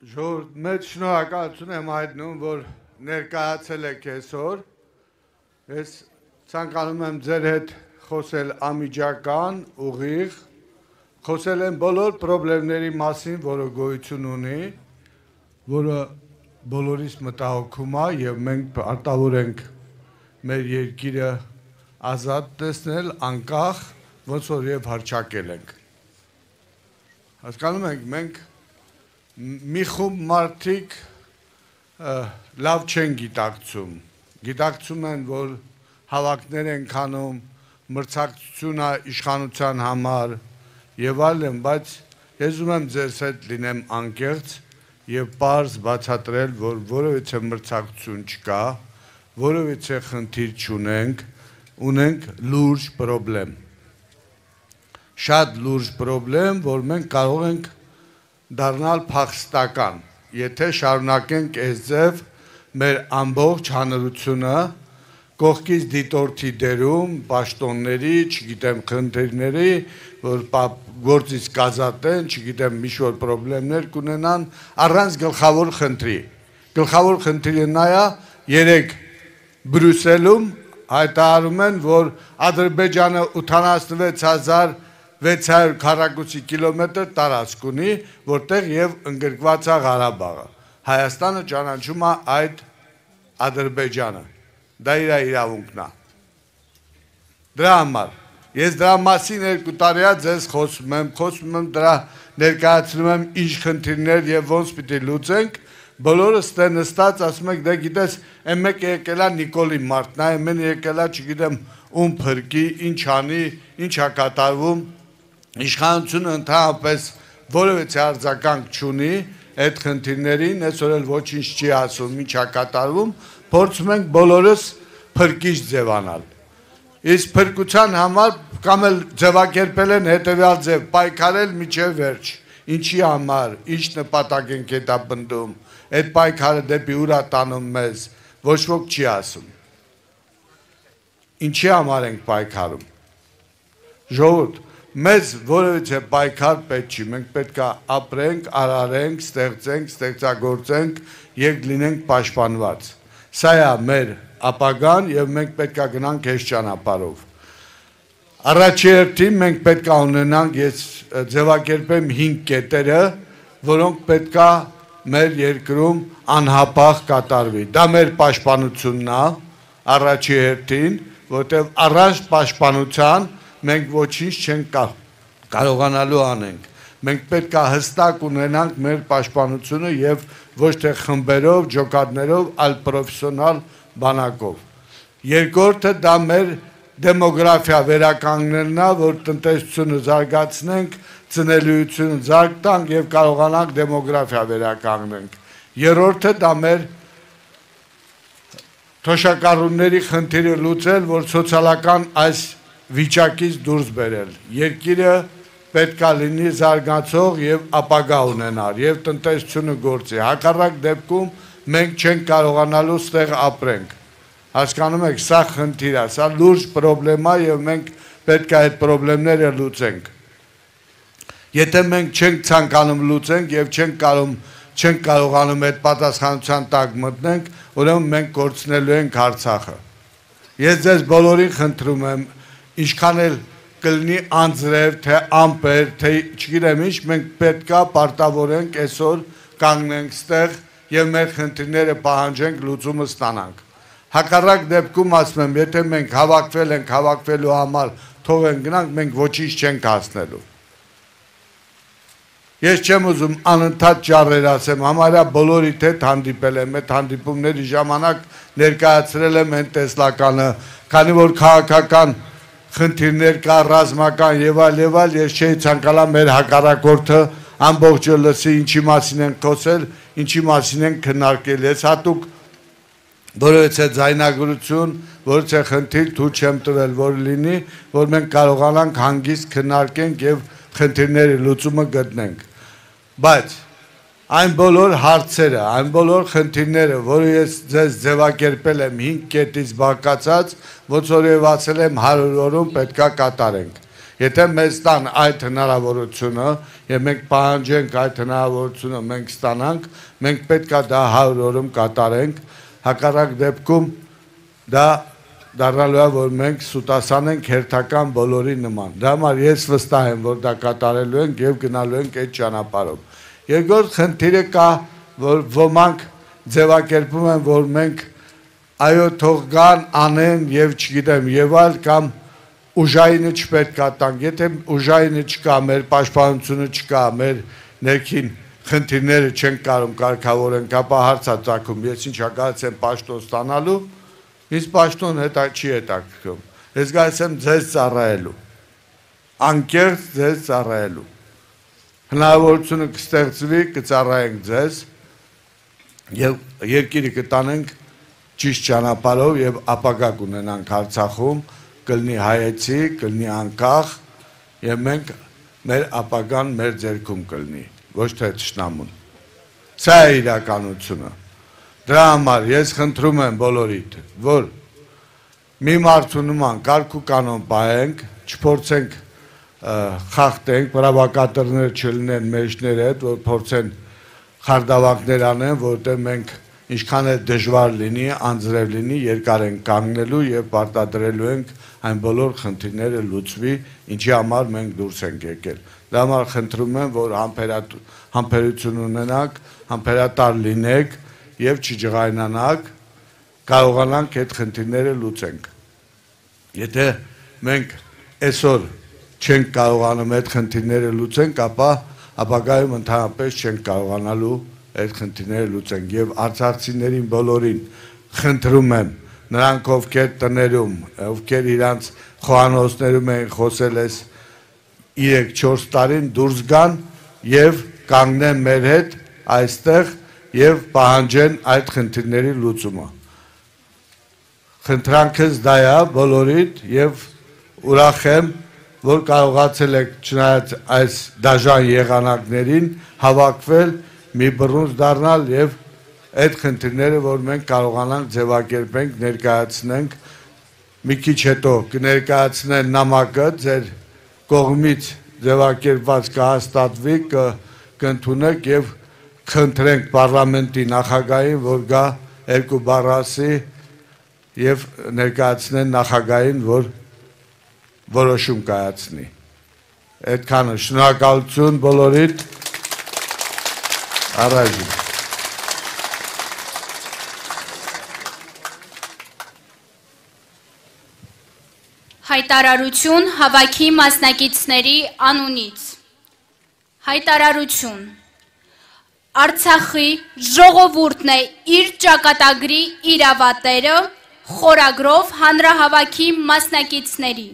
Ժողովուրդ, մեծ շնորհակալություն եմ հայտնում, որ ներկայացել եք այսօր։ Ես ցանկանում եմ ձեր հետ խոսել անմիջական, ուղիղ, խոսել եմ բոլոր խնդիրների մասին, որը գոյություն ունի, որը բոլորիս մտահոգում է եւ մենք պարտավոր ենք մեր երկիրը ազատ տեսնել, անկախ, ոնց որ եւ հռչակել ենք։ Հասկանում եք, մենք մի խումբ մարդիկ լավ չեն գիտակցում են, որ հավաքներ են քանում, մրցակցություն է իշխանության համար եւ այլն, բայց ես ուզում եմ ձեզ հետ լինեմ անկեղծ եւ պարզ բացատրել, որ որևիցե մրցակցություն չկա, որևիցե խնդիր չունենք, ունենք լուրջ խնդրեմ։ Շատ լուրջ խնդրեմ, որ մենք կարող ենք դառնալ փախստական, եթե շարունակենք այս ձև մեր ամբողջ հանրությունը կողքից դիտորդի դերում, պաշտոնների, չգիտեմ, խնդիրների, որ գործից կազատեն, չգիտեմ, ինչ-որ խնդիրներ կունենան, առանց գլխավոր խնդրի։ Գլխավոր խնդիրը նա է, երեք Բրյուսելում հայտարարում են, որ Ադրբեջանը 86,600 քառակուսի կիլոմետր տարածք ունի, որտեղ եւ ընդգրկված է Ղարաբաղը։ Հայաստանը ճանաչում է այդ Ադրբեջանը։ Դա իր իրավունքն է։ Դրա համար ես դրա մասին 2 տարի է ձեզ խոսում եմ դրա ներկայացնում եմ ինչ խնդիրներ եւ ոնց պիտի լուծենք, բոլորս դե նստած ասում եք դե գիտես, այն մեկը եկել է Նիկոլի Մարտն է, այն եկել է, չգիտեմ, ում փրկի, ինչ անի, ինչ է կատարվում։ Իշխանությունը ընդհանրապես որևէ արձագանք չունի այդ խնդիրներին, այսօր էլ ոչինչ չի ասում, ինչ է կատարվում, փորձում ենք բոլորս փրկիչ ձևանալ։ Իսկ փրկության համար կամ էլ ձևակերպել են հետևյալ ձև, պայքարել մինչև վերջ։ Ինչի համար, ինչ նպատակ ենք հետապնդում, այդ պայքարը դեպի ուր է տանում մեզ, ոչ ոք չի ասում։ Ինչի համար ենք պայքարում։ Ժողովուրդ, մեզ որևիցե պայքար պետք չի, մենք պետք է ապրենք, արարենք, ստեղծենք, ստեղծագործենք եւ լինենք պաշտպանված։ Սա է մեր ապագան եւ մենք պետք է գնանք այս ճանապարհով։ Առաջի հերթին մենք պետք է ունենանք, ես ձևակերպեմ 5 կետերը, որոնք պետք է մեր երկրում անհապաղ կատարվի։ Դա մեր պաշտպանությունն է, առաջի հերթին, որտեղ առանց պաշտպանության մենք ոչինչ չենք կարողանալու անենք։ Մենք պետք է հստակ ունենանք մեր պաշտպանությունը եւ ոչ թե խմբերով, ջոկատներով, այլ պրոֆեսիոնալ բանակով։ Երկրորդը դա մեր դեմոգրաֆիա վերականգնելն է, որ տնտեսությունը զարգացնենք, ծնելիությունը զարգ տանք եւ կարողանանք դեմոգրաֆիա վերականգնենք։ Երրորդը դա մեր թոշակառուների խնդիրը լուծել, որ սոցիալական այս վիճակից դուրս բերել։ Երկիրը պետք է լինի զարգացող եւ ապագա ունենալ եւ տնտեսությունը գործի։ Հակառակ դեպքում մենք չենք կարողանալու ստեղ ապրենք։ Հասկանում եք, սա խնդիր է, սա լուրջ խնդրեմ է եւ մենք պետք է այդ խնդիրները լուծենք։ Եթե մենք չենք ցանկանում լուծենք եւ չենք կարողանում այդ պատասխանատվության տակ մտնենք, ուրեմն մենք կորցնելու ենք Արցախը։ Ես ձեզ բոլորին խնդրում եմ, ինչքան էլ կլինի անձրև, թե ամպեր, թե չգիտեմ ինչ, մենք պետք է պարտավորենք այսօր կանգնենք ստեղ եւ մեր խնդիրները պահանջենք, լուծումը ստանանք։ Հակառակ դեպքում ասում եմ, եթե մենք հավաքվել ենք, հավաքվելու համար թողենք գնանք, մենք ոչինչ չենք հասնելու։ Ես չեմ ուզում անընդհատ ճառեր ասեմ, համարյա բոլորիդ հետ հանդիպել եմ, այդ հանդիպումների ժամանակ ներկայացրել եմ այն տեսլականը, քանի որ քաղաքական խնդիրներ կա, ռազմական եւ այլ, ես չէի ցանկալա մեր հակառակորդը ամբողջը լսի, ինչի մասին են խոսել, ինչի մասին են քննարկել։ Ես հատուկ որևէ ձայնագրություն, որևէ խնդիր թույլ չեմ տվել, որ լինի, որ մենք կարողանանք հանգիստ քննարկենք եւ խնդիրների լուծումը գտնենք։ Բայց այն բոլոր հարցերը, այն բոլոր խնդիրները, որը ես ձեզ ձևակերպել եմ 5 կետից բաղկացած, ոնց որ եւ ասել եմ 100 օրում պետքա կատարենք։ Եթե մեզ տան այդ հնարավորությունը եւ մենք պահանջենք այդ հնարավորությունը մենք ստանանք, մենք պետք է դա 100 օրում կատարենք, հակառակ դեպքում դա դառնալու է, որ մենք սուտասան ենք հերթական բոլորի նման։ Դա համար ես վստահ եմ, որ դա կատարելու ենք եւ գնալու ենք այդ ճանապարհով։ Երկրորդ խնդիրը կա, որ ոմանք ձևակերպում են, որ մենք այո թող գան, անեն եւ չգիտեմ եւ այլ կամ ուժայինը չպետք է տանք, եթե ուժայինը չկա, մեր պաշտպանությունը չկա, մեր ներքին խնդիրները չեն կարող կարգավորենք, ապա հարց է ծագում, ես ինչ հակառակ եմ պաշտոն ստանալու, ինձ պաշտոն հետա չի հետաքրքրում, ես գալիս եմ ձեզ ծառայելու, անկեղծ ձեզ ծառայելու, հնարավորությունը կստեղծվի, կծառայենք ձեզ եւ երկիրը կտանենք ճիշտ ճանապարհով եւ ապագա կունենանք Արցախում, կլինի հայեցի, կլինի անկախ եւ մենք մեր ապագան մեր ձեռքում կլինի, ոչ թե թշնամուն։ Սա է իրականությունը։ Դրա համար ես խնդրում եմ բոլորիդ, որ մի մարդու նման կարգ ու կանոն պահենք, չփորձենք խախտենք, բռնապետները չլինեն մեջները հետ, որ փորձեն խարդավանքներ անեն, որտեղ մենք ինչքան է դժվար լինի, անձրև լինի, երկար ենք կանգնելու եւ պարտադրելու ենք այն բոլոր խնդիրները լուծվի, ինչի համար մենք դուրս ենք եկել։ Դա համար խնդրում եմ, որ համբերություն ունենաք, համբերատար լինեք եւ չջղայնանաք, կարողանանք այդ խնդիրները լուծենք։ Եթե մենք այսօր չենք կարողանում այդ խնդիրները լուծենք, ապա ապագայում ընդհանրապես չենք կարողանալու այդ խնդիրները լուծենք եւ արցախցիներին բոլորին խնդրում եմ, նրանք ովքեր տներում, ովքեր իրանց խոհանոցներում են խոսել այս 3-4 տարին դուրս գան եւ կանգնեն մեր հետ այստեղ եւ պահանջեն այդ խնդիրների լուծումը։ Խնդրանքս դա է բոլորիդ եւ ուրախ եմ, որ կարողացել եք չնայած այս դաժան եղանակներին հավաքվել, մի բռունց դառնալ եւ այդ խնդիրները, որ մենք կարողանանք ձևակերպենք, ներկայացնենք, մի քիչ հետո կներկայացնեն նամակը ձեր կողմից ձևակերպված կհաստատվի, կընդունեք եւ խնդրենք պարլամենտի նախագահին, որ գա 2 բառ ասի եւ ներկայացնեն նախագահին, որ որոշում կայացնի։ Այդքանը շնորհակալություն բոլորիդ։ Առայժմ Հայտարարություն հավաքի մասնակիցների անունից։ Հայտարարություն։ Արցախի ժողովուրդն է իր ճակատագրի իրավատերը խորագրով հանրահավաքի մասնակիցների։